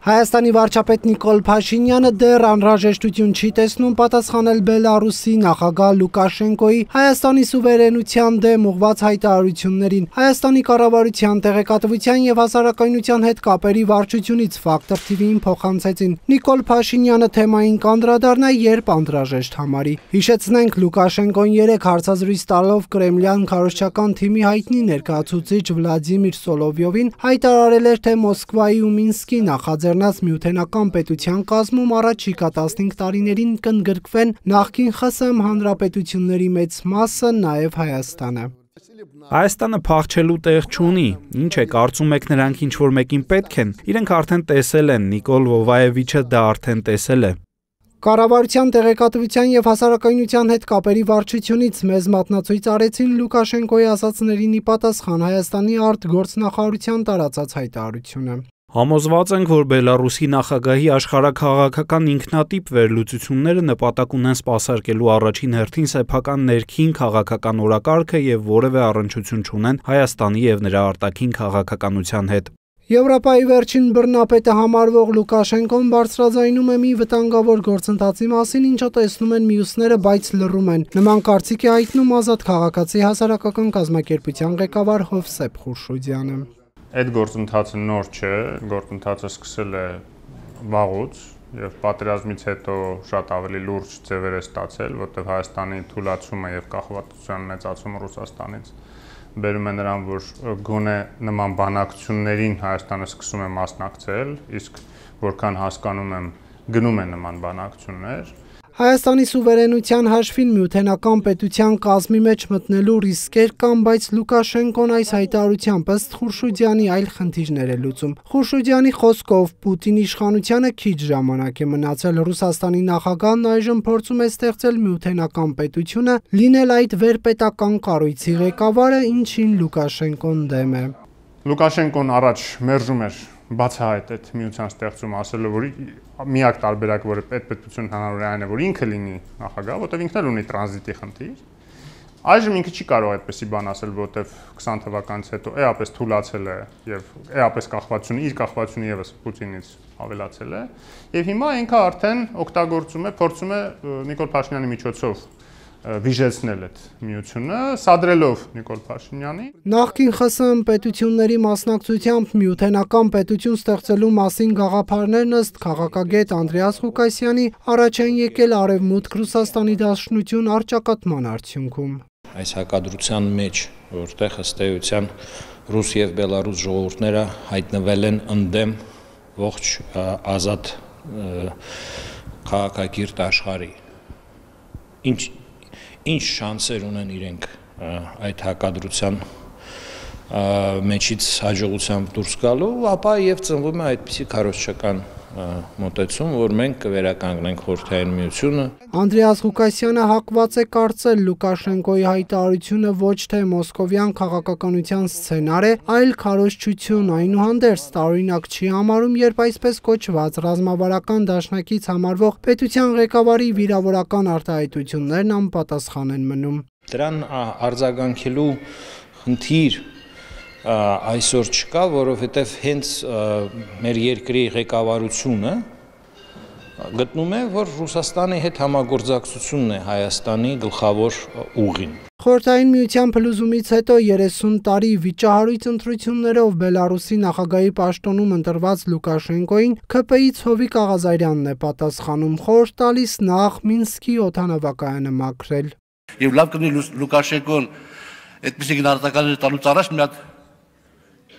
Հայաստանի վարչապետ Նիկոլ Փաշինյանը դեռ անհրաժեշտություն չի տեսնում պատասխանել Բելարուսի նախագահ Լուկաշենկոյի Հայաստանի սուվերենության դեմ ուղղված հայտարարություններին։ Հայաստանի կառավարության տեղեկատվության եւ հասարակայնության հետ կապերի վարչությունից Factor TV-ին փոխանցեցին։ Նիկոլ Փաշինյանը թեմային կանդրադառնա, երբ անհրաժեշտ համարի։ Հիշեցնենք, Լուկաշենկոն 3 հարցազրույց տալով Կրեմլյան քարոզչական թիմի հայտնի ներկայացուցիչ Վլադիմիր Սոլովյովին հայտարարել էր, թե Մոսկվայի ու Մինսկի նախաձեռնած միութենական պետության կազմում առաջիկա 15 տարիներին կընդգրկվեն նախկին ԽՍՀՄ հանրապետությունների մեծ մասը, նաև Հայաստանը։ Հայաստանը փախչելու տեղ չունի, ինչ է, կարծում եք նրանք ինչ-որ մեկին պետք են, իրենք արդեն տեսել են, Նիկոլ Վովաևիչը դա արդեն տեսել է։ Կառավարության տեղեկատվության եւ հասարակայնության հետ կապերի վարչությունից մեզ մատնացույց արեցին Լուկաշենկոյի ասացներին ի պատասխան Հայաստանի արտգործնախարարության տարածած հայտարարությունը։ Համոզված ենք, որ Բելարուսի նախագահի աշխարհաքաղաքական ինքնատիպ վերլուծությունները նպատակ ունեն սպասարկելու առաջին հերթին սեփական ներքին քաղաքական օրակարգը եւ որևէ առնչություն չունեն Հայաստանի եւ նրա արտաքին քաղաքականության հետ։ Եվրոպայի վերջին բռնապետը համարվող Լուկաշենկոն բարձրաձայնում է մի վտանգավոր գործընթացի մասին, ինչը տեսնում են մյուսները, բայց լռում են։ Նման կարծիք է հայտնում Ազատ քաղաքացի հասարակական կազմակերպության ղեկավար Հովսեփ Խուրշուդյանը։ Այդ գործընթացը նոր չէ, գործընթացը սկսել է վաղուց եւ պատերազմից հետո շատ ավելի լուրջ ձևեր է ստացել, որտեղ Հայաստանի թուլացումը եւ կախվածության մեծացումը Ռուսաստանից բերում է նրան, որ գոնե նման բանակցություններին Հայաստանը սկսում է մասնակցել, իսկ որքան հասկանում եմ, գնում են նման բանակցություններ։ Հայաստանի սուվերենության հաշվին միութենական պետության կազմի մեջ մտնելու ռիսկեր կան, բայց Լուկաշենկոն այս հայտարարությամբ ըստ Խուրշուդյանի այլ խնդիրներ է լուծում։ Խուրշուդյանի խոսքով Պուտինի իշխանությանը քիչ ժամանակ է մնացել, Ռուսաստանի նախագահն այժմ փորձում է ստեղծել միութենական պետությունը, լինել այդ վերպետական կառույցի ղեկավարը, ինչին Լուկաշենկոն դեմ է։ Լուկաշենկոն առաջ մերժում էր բացահայտ այդ միության ստեղծում, ասելով, որ միակ տարբերակը, որը պետություն հնարավոր է այն է, որ ինքը լինի նախագահ, որտեղ ինքն էլ ունի տրանզիտի խնդիր։ Այժմ ինքը չի կարող այդպեսի բան ասել, որտեղ 20 թվականից հետո էապես թուլացել է եւ էապես կախվածությունը, իր կախվածությունը եւս Պուտինից ավելացել է, եւ հիմա ինքը արդեն օգտագործում է, փորձում է Նիկոլ Փաշինյանի միջոցով վիժեցնել այդ միությունը, սադրելով Նիկոլ Փաշինյանի։ Նախկին ԽՍՀՄ պետությունների մասնակցությամբ միութենական պետություն ստեղծելու մասին գաղափարներն ըստ քաղաքագետ Անդրեաս Ղուկասյանի առաջ են եկել Արևմուտք Ռուսաստանի դաշնություն առճակատման արդյունքում։ Այս հակադրության մեջ, որտեղ ըստ էության ռուս եւ բելարուս ժողովուրդները հայտնվել են ընդդեմ ողջ ազատ քաղաքակիրթ աշխարհի։ Ինչ շանսեր ունեն իրենք այդ հակադրության մեջից հաջողությամբ դուրս գալու, ապա եւ ծնվում է այդպիսի քարոզչական մոտեցում, որ մենք կվերականգնենք Խորհրդային Միությունը։ Անդրեաս Ղուկասյանը հակված է կարծել Լուկաշենկոյի հայտարարությունը ոչ թե մոսկովյան քաղաքականության սցենար է, այլ քարոզչություն, այնուհանդերձ տարօրինակ չի համարում, երբ այսպես կոչված ռազմավարական դաշնակից համարվող պետության ղեկավարի վիրավորական արտահայտություններն անպատասխան են մնում։ Դրան արձագանքելու խնդիր այսօր չկա, որովհետև հենց մեր երկրի ղեկավարությունը գտնում է, որ Ռուսաստանի հետ համագործակցությունն է Հայաստանի գլխավոր ուղին։ Խորհրդային Միության փլուզումից հետո 30 տարի վիճահարույց ընտրություններով Բելարուսի նախագահի պաշտոնում ընտրված Լուկաշենկոյին ՔՊ-ի Ցովիկ Աղազարյանն է պատասխանում, խորհուրդ տալիս նախ Մինսկի օդանավակայանը մաքրել։ Եվ լավ կլինի Լուկաշենկոն այդպիսի գնահատականներ տալուց առաջ մի հատ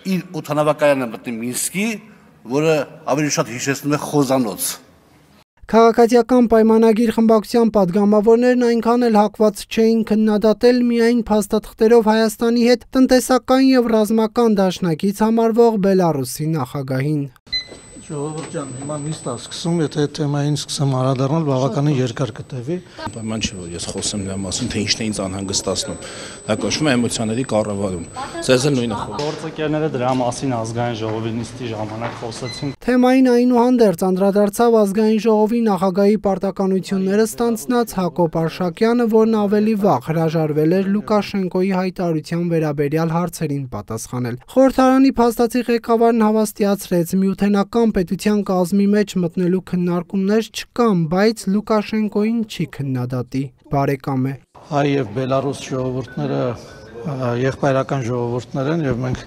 իր օդանավակայանը մտնի Մինսկի, որը ավելի շատ հիշեցնում է խոզանոց։ Քաղաքացիական պայմանագիր խմբակցության падգամավորներն այնքան էլ հակված չէին քննադատել միայն փաստաթղթերով Հայաստանի հետ տնտեսական եւ ռազմական դաշնակից համարվող Բելարուսի նախագահին։ Ժողովուրդ ջան, հիմա նիստ է սկսում, եթե թեմային սկսեմ անդրադառնալ, բավականին երկար կտևի։ Պայման չի, որ ես խոսեմ դրա մասին, թե ինչն է ինձ անհանգստացնում։ Դա կոչվում է էմոցիաների կառավարում։ Ձեզ էլ նույնը խոսում։ Գործընկերները դրա մասին ազգային ժողովի նիստի ժամանակ խոսեցին։ Թեմային այնուհանդերձ անդրադարձավ ազգային ժողովի նախագահի պարտականությունները ստանձնած Հակոբ Արշակյանը, որն ավելի վաղ հրաժարվել էր Լուկաշենկոյի հայտարարության վերաբերյալ հարցերին պատասխանել։ Խորհրդարանի փաստացի ղեկավարն հավաստիացրեց, միութենական հանրապետության կազմի մեջ մտնելու քննարկումներ չկան, բայց Լուկաշենկոին չի քննադատի։ Բարեկամ է։ Հայ եւ Բելարուս ժողովուրդները եղբայրական ժողովուրդներ են եւ մենք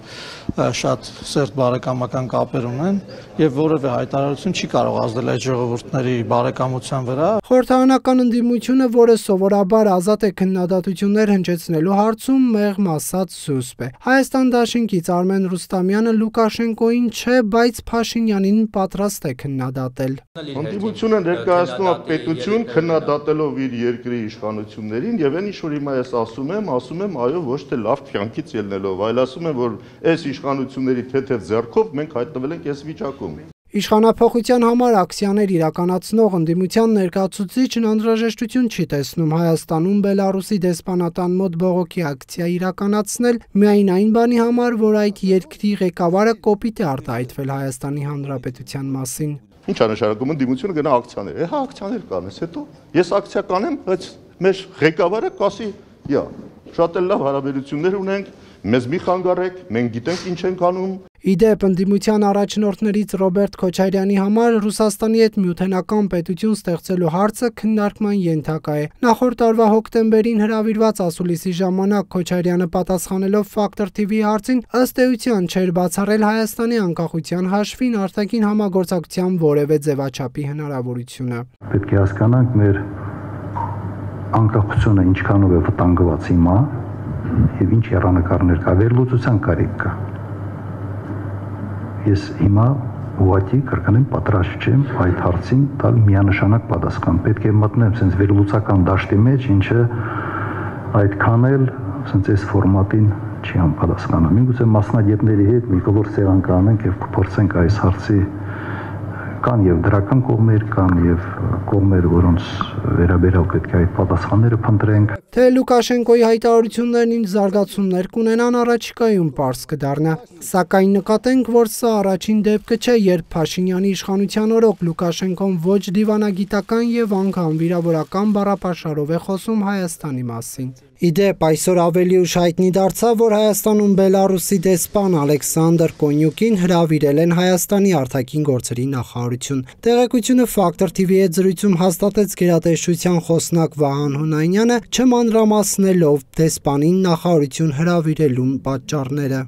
շատ սերտ բարեկամական կապեր ունեն եւ որևէ հայտարարություն չի կարող ազդել այդ ժողովուրդների բարեկամության վրա։ Խորհրդարանական ընդդիմությունը, որը սովորաբար ազատ է քննադատություններ հնչեցնելու հարցում, մեղմ ասած զուսպ է։ Հայաստան դաշինքից Արմեն Ռուստամյանը Լուկաշենկոին չէ, բայց Փաշինյանին պատրաստ է քննադատել։ Ընդդիմությունը ներկայացնում է պետություն քննադատելով իր երկրի իշխանություններին եւ այն ինչ որ հիմա ես ասում եմ, այո, ոչ թե լավ կյանքից ելնելով, այլ ասում եմ, որ այս իշխանությունների թեթև ձեռքով մենք հայտնվել ենք այս վիճակում։ Իշխանափոխության համար ակցիաներ իրականացնող ընդդիմության ներկայացուցիչն անհրաժեշտություն չի տեսնում Հայաստանում Բելարուսի դեսպանատան մոտ բողոքի ակցիա իրականացնել միայն այն բանի համար, որ այդ երկրի ղեկավարը կոպիտ է արտահայտվել Հայաստանի Հանրապետության մասին։ Ինչ է նշանակում ընդդիմությունը գնա ակցիաներ։ Հա ակցիաներ կանես, հետո ես ակցիա կանեմ, բայց մեր ղեկավարը կասի, «Յա, շատ էլ լավ հարաբերություններ ունենք, մեզ մի խանգարեք, մենք գիտենք ինչ ենք անում»։ Իդեպ ընդդիմության առաջնորդներից Ռոբերտ Քոչարյանի համար Ռուսաստանի հետ միութենական պետություն ստեղծելու հարցը քննարկման ենթակա է։ Նախորդ տարվա հոկտեմբերին հրավիրված ասուլիսի ժամանակ Քոչարյանը պատասխանելով Factor TV հարցին ըստ էության չէր բացառել Հայաստանի անկախության հաշվին արտաքին համագործակցության որևէ ձևաչափի հնարավորությունը։ Պետք է հասկանանք մեր անկախությունը ինչքանով է վտանգված հիմա եւ ինչ հեռանկարներ կա, վերլուծության կարիք կա։ Ես հիմա ուղղակի կրկնեմ պատրաստ չեմ այդ հարցին տալ միանշանակ պատասխան։ Պետք է մտնեմ sense վերլուծական դաշտի մեջ, ինչը այդքան էլ sense այս ֆորմատին չի համապատասխանում։ Միգուցե մասնագետների հետ մի կողոր սեղան կանենք եւ կփորձենք այս հարցի կան եւ դրական կողմեր կան եւ կողմեր, որոնց վերաբերյալ պետք է այդ պատասխանները փնտրենք։ Թե Լուկաշենկոյի հայտարարություններն ինչ զարգացումներ կունենան առաջիկայում պարզ կդառնա։ Սակայն նկատենք, որ սա առաջին դեպքը չէ, երբ Փաշինյանի իշխանության օրոք Լուկաշենկոն ոչ դիվանագիտական եւ անգամ վիրավորական բառապաշարով է խոսում Հայաստանի մասին։ Իդեպ այսօր ավելի ուշ հայտնի դարձավ, որ Հայաստանում Բելարուսի դեսպան Ալեքսանդր Կոնյուկին հրավիրել են Հայաստանի արտաքին գործերի նախարարություն։ Տեղեկությունը Factor TV-ի հետ զրույցում հաստատեց գերատեսչության խոսնակ Վահան Հունանյանը, չմանրամասնելով դեսպանին նախարարություն հրավիրելու պատճառները։